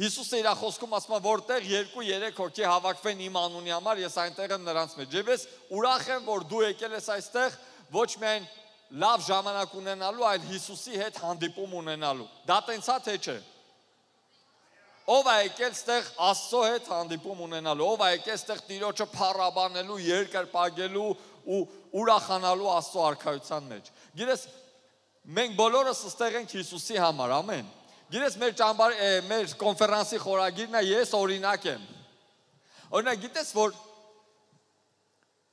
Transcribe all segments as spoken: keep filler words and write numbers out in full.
Հիսուսը իր խոսքում ասում է, որտեղ երկու երեք հոգի հավաքվեն իմ անունի համար, ես այնտեղ եմ նրանց մեջ։ Եվ ես ուրախ եմ, որ դու եկել ես այստեղ ոչ միայն լավ ժամանակ ունենալու, այլ Հիսուսի հետ հանդիպում ունենալու։ Դա տենց է թե չէ։ Ով է եկել ստեղ Աստծո հետ հանդիպում ունենալու, ով է եկել ստեղ Տիրոջը փառաբանելու, երկրպագելու ու ուրախանալու Աստծո արքայության մեջ։ Գիտես, մենք բոլորս ստեղ ենք Հիսուսի համար, ամեն։ Գիտես, մեր ճամբար, մեր կոնֆերանսի խորագիրն է ես օրինակ եմ։ Օրինակ, գիտես, որ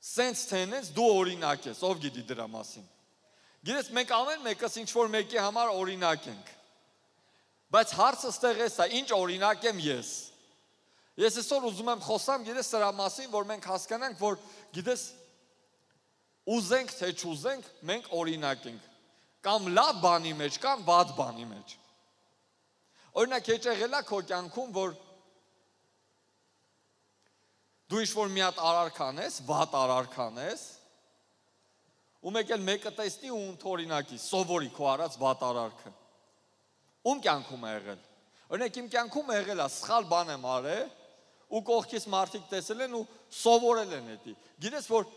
սենց թենես դու օրինակ ես, ով գիտի դրա մասին։ Գիտես, մենք ամեն մեկս ինչ-որ մեկի համար օրինակ ենք։ Բայց հարցը ստեղ էս է, ինչ օրինակ եմ ես։ Ես այսօր ուզում եմ խոսամ, գիտես, սրա մասին, որ մենք հասկանանք, որ գիտես, ուզենք թե չուզենք, մենք օրինակ ենք։ Կամ լավ բանի մեջ, կամ վատ բանի մեջ։ Օրինակ, հեչ եղել է քո կյանքում, որ դու ինչ-որ մի հատ արարք անես, վատ արարք անես, ու մեկ էլ մեկը տեսնի ու ընդօրինակի, սովորի քո արած վատ արարքը։ Ում կյանքում է եղել։ Օրինակ, իմ կյանքում է եղել է, սխալ բան եմ արել, ու կողքից մարդիկ տեսել են ու սովորել են էդի։ Գիտես, որ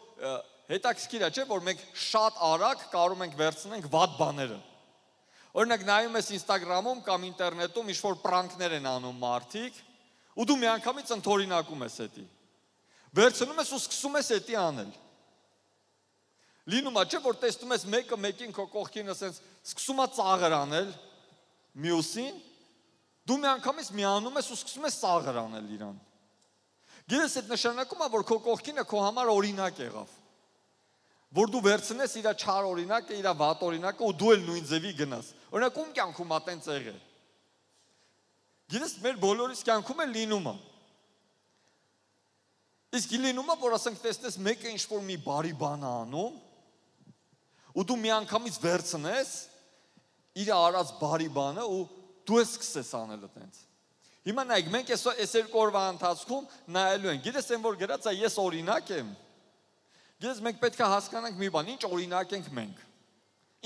հետաքրքիր է, չէ՞, որ մենք շատ արագ կարող ենք վերցնենք վատ բաները։ Օրինակ, նայում ես Instagram-ում կամ ինտերնետում ինչ-որ պրանքներ են անում մարդիկ, ու դու միանգամից ընդօրինակում ես էդի։ Վերցնում ես ու սկսում ես էդի անել։ Լինում է, չէ՞, որ տեսնում ես մեկը մեկին քո կողքին ասենց սկսում է ծաղր անել, մյուսին, դու միանգամից միանում ես ու սկսում ես ծաղր անել իրան։ Գիտես, այդ նշանակում է, որ քո կողքինը քո համար օրինակ եղավ։ Որ դու վերցնես իր չար օրինակը, իր վատ օրինակը ու դու էլ նույն ձևի գնաս։ Օրինակ, ում կյանքում ա տենց եղել։ Գիտես, մեր բոլորիս կյանքում էլ լինում է։ Իսկ լինում է, որ ասենք տեսնես մեկը ինչ-որ մի բարի բան է անում, ու դու միանգամից վերցնես իր արած բարի բանը ու դու ես սկսես անելը տենց։ Հիմա նայեք, մենք այս երկու օրվա ընթացքում նայելու ենք։ Գիտես, այն որ գրած է, ես օրինակ եմ։ Գիտես, մենք պետք է հասկանանք մի բան, ինչ օրինակ ենք մենք։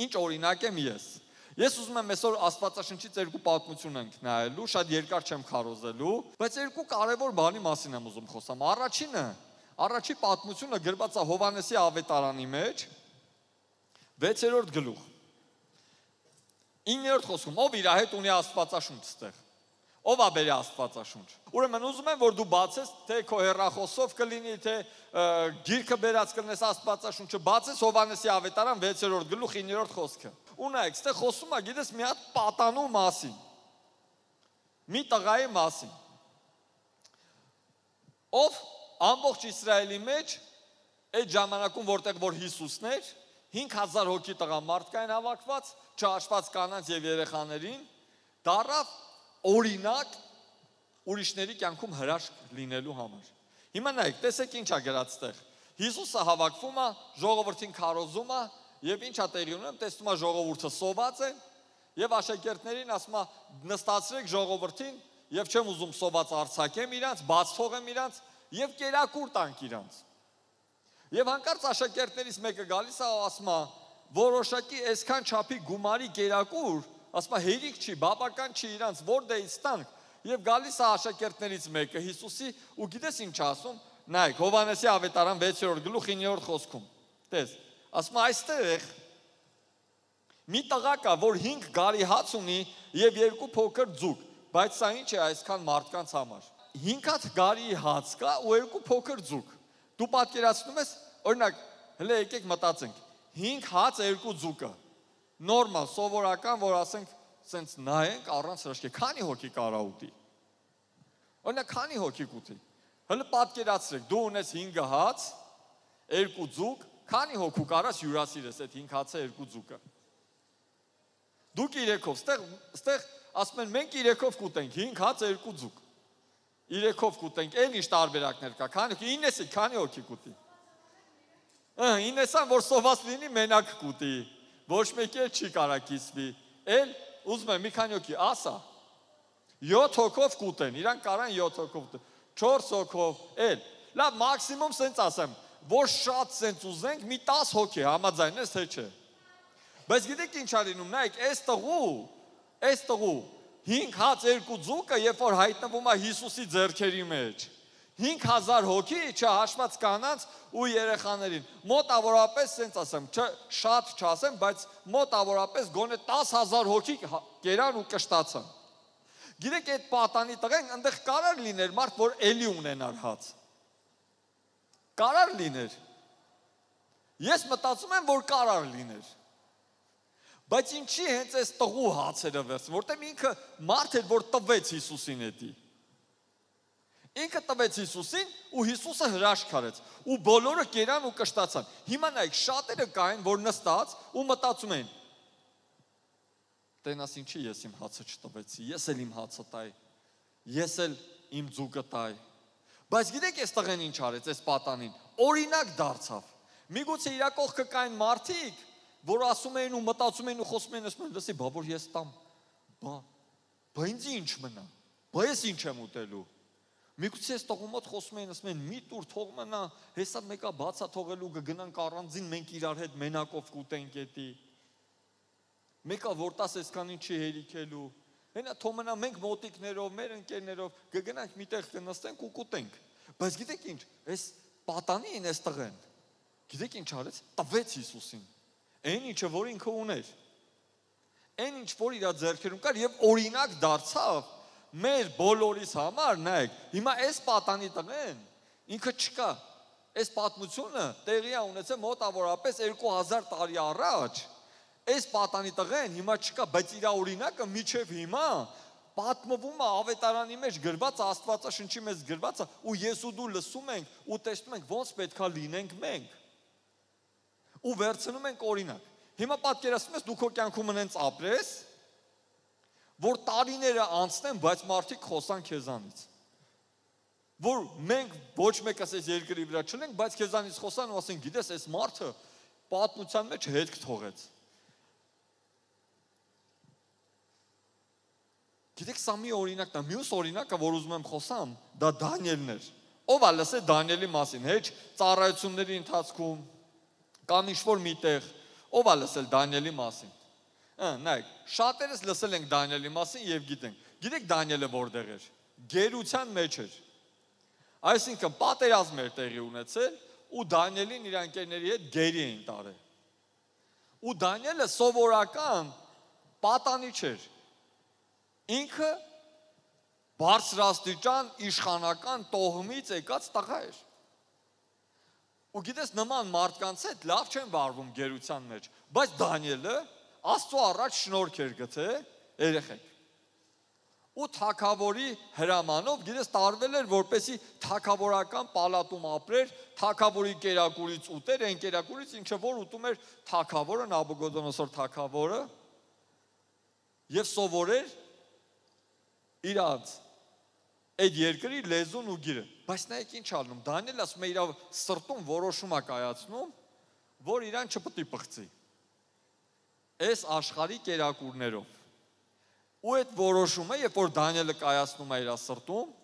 Ինչ օրինակ եմ ես։ Ես ուզում եմ այսօր Աստվածաշնչից երկու պատմություն ենք նայելու, շատ երկար չեմ քարոզելու, բայց երկու կարևոր բանի մասին եմ ուզում խոսամ։ Առաջինը, առաջի պատմությունը գրված է Հովհաննեսի ավետարանի մեջ, վեցերորդ գլուխ։ իններորդ խոսքում, ով իր հետ ունի Աստվածաշունչ ստեղ։ Ով է բերի Աստվածաշունչ։ Ուրեմն ուզում եմ, որ դու բացես, թե քո հեռախոսով կլինի, թե գիրքը բերած կլնես Աստվածաշունչը, բացես Հովհաննեսի ավետարան վեցերորդ գլուխ իններորդ խոսքը։ Ու նայեք, ստեղ խոսում է, գիտես, մի հատ պատանու մասին։ Մի տղայի մասին։ Ով ամբողջ Իսրայելի մեջ այդ ժամանակում, որտեղ որ Հիսուսն էր, հինգ հազար հոգի տղամարդ կային հավաքված, չհաշված կանանց եւ երեխաներին, դառավ օրինակ ուրիշների կյանքում հրաշք լինելու համար։ Հիմա նայեք, տեսեք ինչ է գրած ստեղ։ Հիսուսը հավաքվում է, ժողովրդին քարոզում է, եւ ինչ է տեղի ունենում, տեսնում է ժողովուրդը սոված է, եւ աշակերտներին ասում է նստացրեք ժողովրդին, եւ չեմ ուզում սոված արձակեմ իրանց, բաց թողեմ իրանց եւ կերակուր տանք իրանց։ Եվ հանկարծ աշակերտներից մեկը գալիս է, ասում է, որոշակի այսքան չափի գումարի կերակուր, ասում է, հերիք չի, բավական չի իրանց, որտեղից տանք։ Եվ գալիս է աշակերտներից մեկը Հիսուսի ու գիտես ինչ ասում, նայեք, Հովհաննեսի ավետարան վեցերորդ գլուխ իններորդ խոսքում։ Տես, ասում է, այստեղ մի տղա կա, որ հինգ գարի հաց ունի եւ երկու փոքր ձուկ, բայց սա ինչ է այսքան մարդկանց համար։ հինգ հատ գարի հաց կա ու երկու փոքր ձուկ։ Դու պատկերացնում ես, օրինակ, հələ եկեք մտածենք, հինգ հաց երկու ձուկը։ Նորմալ, սովորական, որ ասենք, սենց նայենք առանց հրաշքի, քանի հոգի կարա ուտի։ Օրինակ, քանի հոգի կուտի։ Հələ պատկերացրեք, դու ունես հինգ հաց, երկու ձուկ, քանի հոգու կարաս հյուրասիրես այդ հինգ հացը երկու ձուկը։ Դուք իրեքով, ստեղ, ստեղ ասում են, մենք իրեքով կուտենք, հինգ հաց երկու ձուկ։ Իրեքով կուտենք, էլ ինչ տարբերակներ կա, քանի հոգի, իննեսի, քանի հոգի կուտի։ Իննեսան, որ սոված լինի, մենակ կուտի, ոչ մեկի էլ չի կարա կիսվի, էլ ուզում եմ մի քանի հոգի, ասա, յոթ հոգով կուտեն, իրանք կարան յոթ հոգով կուտեն, չորս հոգով, էլ, լավ, մաքսիմում սենց ասեմ, որ շատ սենց ուզենք, մի տաս հոգի, համաձայն ես, թե չէ։ Բայց գիտեք ինչ ա լինում, նայեք, այս տղու, այս տղու, հինգ հաց երկու ձուկը, երբ որ հայտնվում է Հիսուսի ձեռքերի մեջ, հինգ հազար հոգի, չհաշված կանանց ու երեխաներին, մոտավորապես, ասենց ասեմ, շատ չասեմ, բայց մոտավորապես գոնե տասը հազար հոգի կերան ու կշտացան։ Գիտեք, այդ պատանի տղեն այնտեղ կարար լիներ մարդ, որ էլի ունենար հաց։ Կարար լիներ։ Ես մտածում եմ, որ կարար լիներ։ Բայց ինչի հենց այս տղու հացերը վերցնում, որտեղ ինքը մարդ էր, որ տվեց Հիսուսին էդի։ Ինքը տվեց Հիսուսին ու Հիսուսը հրաշք արեց ու բոլորը կերան ու կշտացան։ Հիմա նայեք, շատերը կային, որ նստած ու մտածում են. Տենաս ինչի ես իմ հացը չտվեցի, ես էլ իմ հացը տայ, ես էլ իմ ձուկը տայ։ Բայց գիտեք, այս տղեն ինչ արեց, այս պատանին, օրինակ դարձավ։ Միգուցե իր կողքը կային մարդիկ, որ ասում էին ու մտածում էին ու խոսում էին, ասում են, լսի, բա որ ես տամ, բա, բա ինձ ինչ մնա, բա ես ինչ եմ ուտելու։ Միգուցե այս տղու մոտ խոսում էին, ասում են, մի տուր թող մնա, հեսա մեկա բացա թողելու կգնանք առանձին, մենք իրար հետ մենակով կուտենք էդի։ Մեկա որ տաս այսքան ինչի հերիքելու։ Հենա թող մնա մենք մոտիկներով, մեր ընկերներով կգնանք միտեղ կնստենք ու կուտենք։ Բայց գիտեք ինչ, այս պատանին այս տղեն, գիտեք ինչ արեց, տվեց Հիսուսին։ Այն ինչը որ ինքը ուներ, այն ինչ որ իր ձեռքերում կար եւ օրինակ դարձավ մեր բոլորիս համար, նայեք, հիմա այս պատանի տղեն ինքը չկա, այս պատմությունը տեղի է ունեցել մոտավորապես երկու հազար տարի առաջ, այս պատանի տղեն հիմա չկա, բայց իր օրինակը միջև հիմա պատմվում է ավետարանի մեջ գրված, Աստվածաշնչի մեջ գրված է ու ես ու դու լսում ենք ու տեսնում ենք ոնց պետքա լինենք մենք։ Ու վերցնում ենք օրինակ։ Հիմա պատկերացնում ես դու քո կյանքում ունենց ապրես, որ տարիները անցնեն, բայց մարդիկ խոսան քեզանից։ Որ մենք ոչ մեկս այս երկրի վրա չունենք, բայց քեզանից խոսան ու ասեն, գիտես, այս մարդը պատմության մեջ հետք թողեց։ Գիտեք, սա մի օրինակն է, մյուս օրինակը, որ ուզում եմ խոսամ, դա Դանիելն էր։ Ով է լսել Դանիելի մասին, հեչ ծառայությունների ընթացքում կամ ինչ-որ միտեղ, ով է լսել Դանիելի մասին։ Նայեք, շատերս լսել ենք Դանիելի մասին եւ գիտենք։ Գիտեք Դանիելը որտեղ էր։ Գերության մեջ էր։ Այսինքն պատերազմ էր տեղի ունեցել ու Դանիելին իր ընկերների հետ գերի էին տարել։ Ու Դանիելը սովորական պատանի չէր։ Ինքը բարձրաստիճան իշխանական տոհմից եկած տղա էր։ Ու գիտես, նման մարդկանց հետ լավ չեն վարվում գերության մեջ, բայց Դանիելը Աստծո առաջ շնորհք էր գտել, երեխեք։ Ու թագավորի հրամանով, գիտես, տարվել էր, որպեսի թագավորական պալատում ապրեր, թագավորի կերակուրից ուտեր, այն կերակուրից ինչը որ ուտում էր թագավորը, Նաբուկոդոնոսոր թագավորը, եւ սովորեր իրանց այդ երկրի լեզուն ու գիրը։ Բայց նայեք ինչ անում, Դանիելը ասում է իր սրտում որոշում է կայացնում, որ իրան չպետք է պղծի։ Այս աշխարհի կերակուրներով։ Ու այդ որոշումը, երբ որ Դանիելը կայացնում է իր սրտում,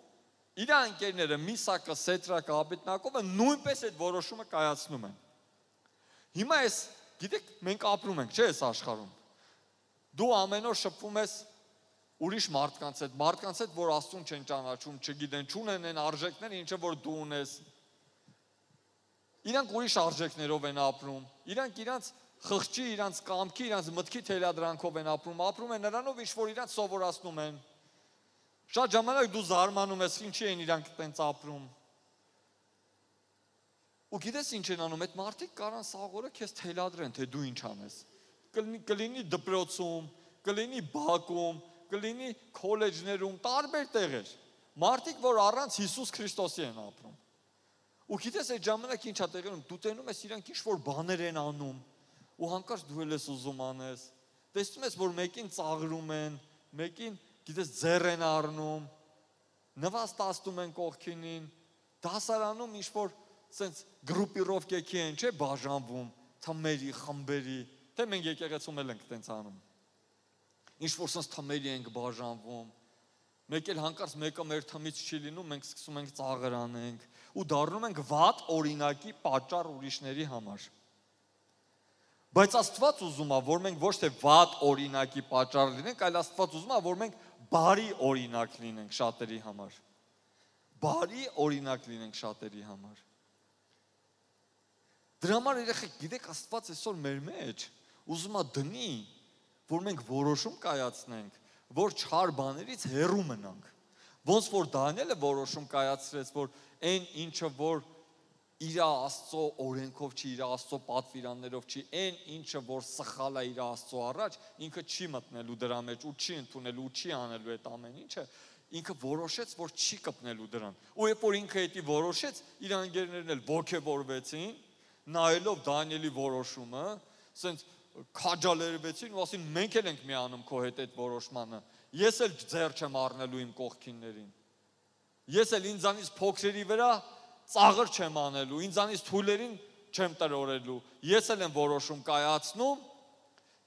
իր ընկերները Միսակը, Սետրակը, Աբեդնագովը նույնպես այդ որոշումը կայացնում են։ Հիմա այս, գիտեք, մենք ապրում ենք, չէ՞, այս աշխարհում։ Դու ամեն օր շփվում ես ուրիշ մարդկանց հետ, մարդկանց հետ, որ Աստծուն չեն ճանաչում, չգիտեն, չունեն այն արժեքները, ինչը որ դու ունես։ Իրանք ուրիշ արժեքներով են ապրում, իրանք իրանց խղճի, իրանց կամքի, իրանց մտքի թելադրանքով են ապրում, ապրում են նրանով, ինչ որ իրանց սովորացնում են։ Շատ ժամանակ դու զարմանում ես, ինչի են իրանք տենց ապրում։ Ու գիտես ինչ են անում, այդ մարդիկ կարան սաղորը քեզ թելադրեն, թե դու ինչ անես։ Կլինի դպրոցում, կլինի բակում, կլինի քոլեջներում, տարբեր տեղեր։ Մարդիկ, որ առանց Հիսուս Քրիստոսի են ապրում։ Ու գիտես այդ ժամանակ ինչ է տեղի ունենում, դու տենում ես իրանք ինչ-որ բաներ են անում, ու հանկարծ դու էլ ես ուզում անես։ Տեսնում ես, որ մեկին ծաղրում են, մեկին, գիտես, ձեռ են առնում, նվաստացնում են կողքինին, դասարանում ինչ-որ սենց գրուպիրովկեքի են, չէ, բաժանվում, թմերի, խմբերի, թե մենք եկեղեցում էլ ենք տենց անում։ Ինչ-որ սենց թմերի ենք բաժանվում, մեկ էլ հանկարծ մեկը մեր թմից չի լինում, մենք սկսում ենք ծաղր անենք ու դառնում ենք վատ օրինակի պատճառ ուրիշների համար։ Բայց Աստված ուզում է, որ մենք ոչ թե վատ օրինակի պատճառ լինենք, այլ Աստված ուզում է, որ մենք բարի օրինակ լինենք շատերի համար։ Բարի օրինակ լինենք շատերի համար։ Դրա համար երեխեք, գիտեք, Աստված այսօր մեր մեջ ուզում է դնի, որ մենք որոշում կայացնենք, որ չար բաներից հեռու մնանք։ Ոնց որ Դանիելը որոշում կայացրեց, որ այն ինչը որ իր Աստծո օրենքով չի, իր Աստծո պատվիրաններով չի, այն ինչը որ սխալ է իր Աստծո առաջ, ինքը չի մտնելու դրա մեջ ու չի ընդունելու ու չի անելու այդ ամեն ինչը, ինքը որոշեց, որ չի կպնելու դրան։ Ու երբ որ ինքը դա որոշեց, իր անգերներն էլ ողջևորվեցին, նայելով Դանիելի որոշումը, ասենց քաջալերվեցին ու ասին մենք էլ ենք միանում քո հետ այդ որոշմանը։ Ես էլ ձեռ չեմ առնելու իմ կողքիններին։ Ես էլ ինձանից փոքրերի վրա ծաղր չեմ անելու, ինձանից թույլերին չեմ տրորելու։ Ես էլ եմ որոշում կայացնում,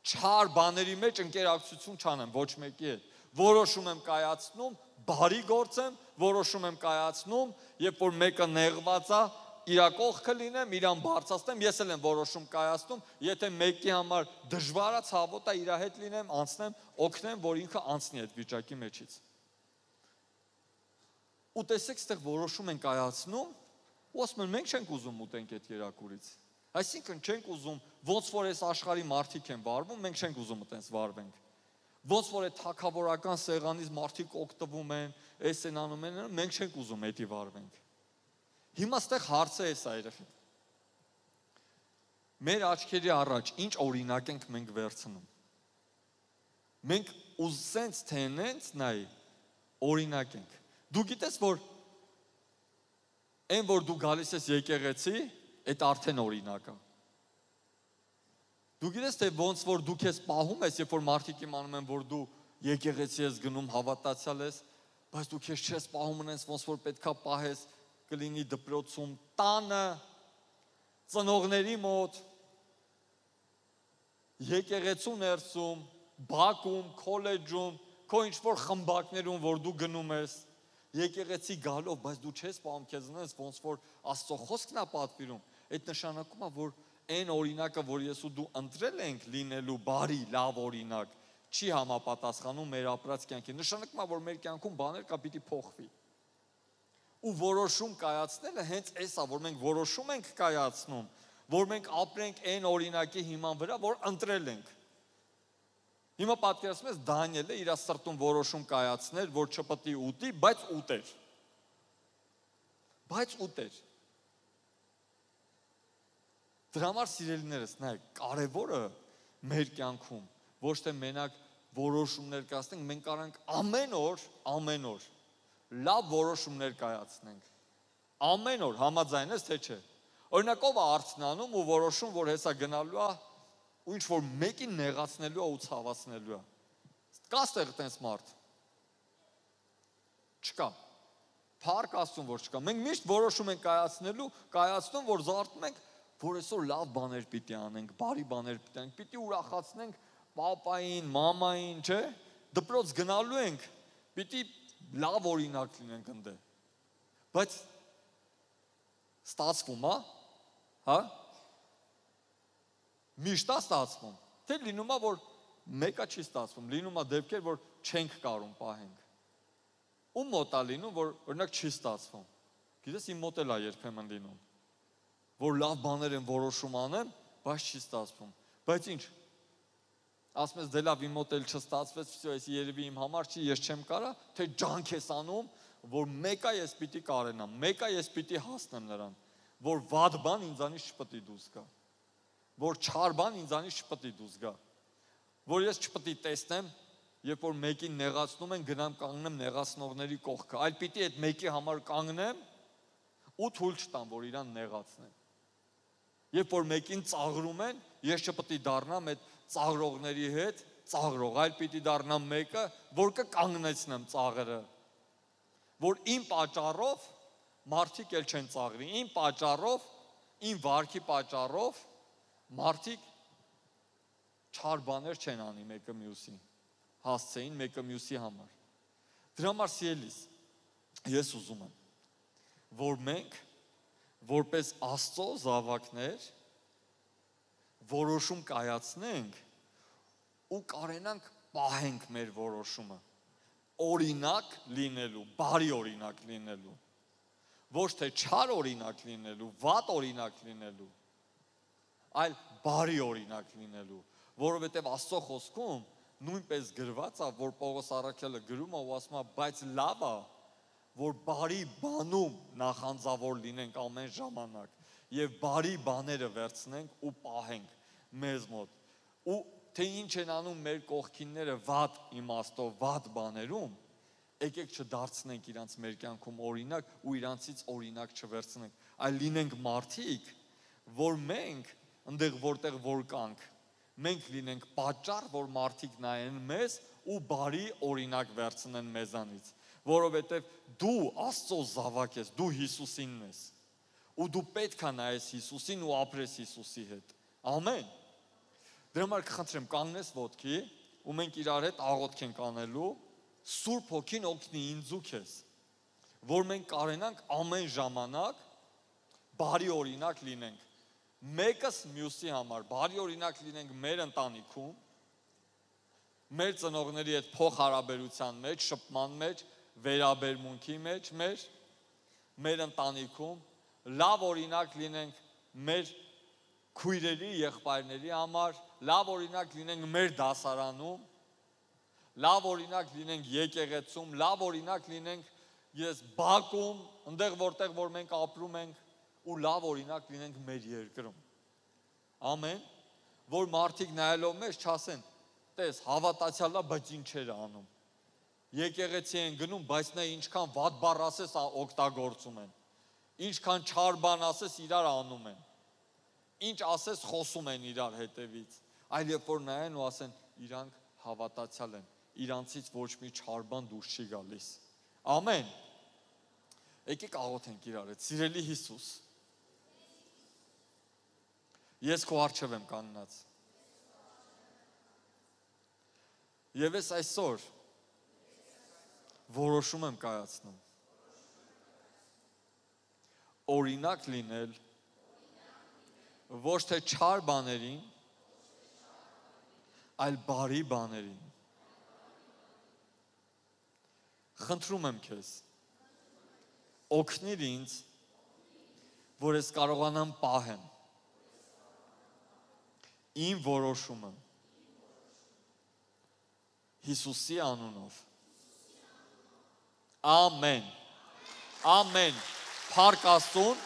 չար բաների մեջ ընկերակցություն չանեմ ոչ մեկի հետ։ Որոշում եմ կայացնում, բարի գործեմ, որոշում եմ կայացնում, երբ որ մեկը նեղված է, իր կողքը լինեմ, իրան բարձրացնեմ, ես էլ եմ որոշում կայացնում, եթե մեկի համար դժվար է, ցավոտ է, իր հետ լինեմ, անցնեմ, օգնեմ, որ ինքը անցնի այդ վիճակի մեջից։ Ու տեսեք, այստեղ որոշում են կայացնում, ու ասում են մենք չենք ուզում ուտենք այդ երակուրից։ Այսինքն չենք ուզում, ոնց որ այս աշխարհի մարդիկ են վարվում, մենք չենք ուզում այտենց վարվենք։ Ոնց որ այդ թագավորական սեղանից մարդիկ օգտվում են, այս են անում են, մենք չենք ուզում այդի վարվենք։ Հիմա այստեղ հարցը է սա երեխեք։ Մեր աչքերի առաջ ինչ օրինակ ենք մենք վերցնում։ Մենք ուզենք թե նենց նայ օրինակ ենք։ Դու գիտես որ այն որ դու գալիս ես եկեղեցի, այդ արդեն օրինակ է։ Դու գիտես թե ոնց որ դու քեզ պահում ես, երբ որ մարդիկ իմանում են որ դու եկեղեցի ես գնում, հավատացյալ ես, բայց դու քեզ չես պահում ունես, ոնց որ պետքա պահես, կլինի դպրոցում, տանը, ծնողների մոտ, եկեղեցու ներսում, բակում, քոլեջում, քո ինչ-որ խմբակներում, որ դու գնում ես, եկեղեցի գալով, բայց դու չես պահում քեզ ունես, ոնց որ Աստծո խոսքն է պատվիրում, այդ նշանակում է, որ այն օրինակը, որ ես ու դու ընտրել ենք լինելու բարի, լավ օրինակ, չի համապատասխանում մեր ապրած կյանքին։ Նշանակում է, որ մեր կյանքում բաներ կա պիտի փոխվի։ Ու որոշում կայացնելը հենց էս է, որ մենք որոշում ենք կայացնում, որ մենք ապրենք այն օրինակի հիման վրա, որ ընտրել ենք։ Հիմա պատկերացնում ես Դանիելը իր սրտում որոշում կայացներ, որ չպետք է ուտի, բայց ուտեր։ Բայց ուտեր։ Դրա համար սիրելիներս, նայեք, կարևորը մեր կյանքում ոչ թե մենակ որոշումներ կայացնենք, մենք կարող ենք ամեն օր, ամեն օր լավ որոշումներ կայացնենք։ Ամեն օր համաձայն ես թե չէ։ Օրինակ ով է արցնանում ու որոշում, որ հեսա գնալու է ու ինչ որ մեկին նեղացնելու է ու ցավացնելու է։ Կա ստեղ տենց մարդ։ Չկա։ Փառք Աստծուն, որ չկա։ Մենք միշտ որոշում ենք կայացնելու, կայացնում, որ զարթում ենք, որ այսօր լավ բաներ պիտի անենք, բարի բաներ պիտի անենք, պիտի ուրախացնենք պապային, մամային, չէ՞։ Դպրոց գնալու ենք, պիտի լավ օրինակ լինենք ընդ։ Բայց ստացվում է, հա? Միշտ է ստացվում։ Թե լինում է, որ մեկը չի ստացվում, լինում է դեպքեր, որ չենք կարող պահենք։ Ու մոտ է լինում, որ օրինակ չի ստացվում։ Գիտես, իմ մոտ էլ է երբեմն լինում, որ լավ բաներ են որոշում անեմ, բայց չի ստացվում։ Բայց ինչ։ Ասում ես, դե լավ, իմ մոտ էլ չստացվեց, այս երևի իմ համար չի, ես չեմ կարա, թե ջանք ես անում, որ մեկը ես պիտի կարենամ, մեկը ես պիտի հասնեմ նրան, որ վատ բան ինձանից չպետք է դուրս գա, որ չար բան ինձանից չպետք է դուրս գա, որ ես չպետք է տեսնեմ, երբ որ մեկին նեղացնում են, գնամ կանգնեմ նեղացնողների կողքը, այլ պիտի այդ մեկի համար կանգնեմ ու թույլ չտամ, որ իրան նեղացնեն։ Երբ որ մեկին ծաղրում են, ես չպետք է դառնամ այդ ծաղրողների հետ ծաղրող, այլ պիտի դառնամ մեկը, որ կկանգնեցնեմ ծաղրը, որ իմ պատճառով մարդիկ էլ չեն ծաղրի, իմ պատճառով, իմ վարքի պատճառով մարդիկ չար բաներ չեն անի մեկը մյուսին, հասցեին մեկը մյուսի համար։ Դրա համար սիրելիս, ես ուզում եմ, որ մենք որպես Աստծո զավակներ որոշում կայացնենք ու կարենանք պահենք մեր որոշումը։ օրինակ լինելու, բարի օրինակ լինելու, ոչ թե չար օրինակ լինելու, վատ օրինակ լինելու, այլ բարի օրինակ լինելու, որովհետև Աստծո խոսքում նույնպես գրված է, որ Պողոս առաքյալը գրում է ու ասում է, բայց լավ է, որ բարի բանում նախանձավոր լինենք ամեն ժամանակ եւ բարի բաները վերցնենք ու պահենք մեզ մոտ։ Ու թե ինչ են անում մեր կողքինները վատ իմաստով, վատ բաներում, եկեք չդարձնենք իրանց մեր կյանքում օրինակ ու իրանցից օրինակ չվերցնենք, այլ լինենք մարդիկ, որ մենք այնտեղ որտեղ որ կանք, մենք լինենք պատճառ, որ մարդիկ նայեն մեզ ու բարի օրինակ վերցնեն մեզանից, որովհետև դու Աստծո զավակ ես, դու Հիսուսինն ես, ու դու պետք է նայես Հիսուսին ու ապրես Հիսուսի հետ։ Ամեն։ Դրա համար կխնդրեմ կանգնես ոտքի ու մենք իրար հետ աղոթք ենք անելու, Սուրբ Հոգին օգնի ինձ ու քեզ, որ մենք կարենանք ամեն ժամանակ բարի օրինակ լինենք։ Մեկս մյուսի համար բարի օրինակ լինենք մեր ընտանիքում, մեր ծնողների հետ փոխհարաբերության մեջ, շփման մեջ, վերաբերմունքի մեջ, մեր մեր ընտանիքում, լավ օրինակ լինենք մեր քույրերի, եղբայրների համար, լավ օրինակ լինենք մեր դասարանում, լավ օրինակ լինենք եկեղեցում, լավ օրինակ լինենք ես բակում, այնտեղ որտեղ որ մենք ապրում ենք, ու լավ օրինակ լինենք մեր երկրում։ Ամեն, որ մարդիկ նայելով մեզ չասեն, տես, հավատացյալ է, բայց ինչեր է անում։ Եկեղեցի են գնում, բայց նա ինչքան վատ բառ ասես օգտագործում են։ Ինչքան չար բան ասես իրար անում են։ Ինչ ասես խոսում են իրար հետևից։ Այլ երբ որ նայեն ու ասեն, իրանք հավատացյալ են, իրանցից ոչ մի չար բան դուրս չի գալիս։ Ամեն։ Եկեք աղոթենք իրար հետ, սիրելի Հիսուս։ Ես քո առջև եմ կանգնած։ Եվ ես այսօր որոշում եմ կայացնում օրինակ լինել ոչ թե չար բաներին, այլ բարի բաներին։ Խնդրում եմ քեզ, օգնիր ինձ, որ ես կարողանամ պահեմ իմ որոշումը Հիսուսի անունով։ Ամեն։ Ամեն։ Փառք Աստծուն։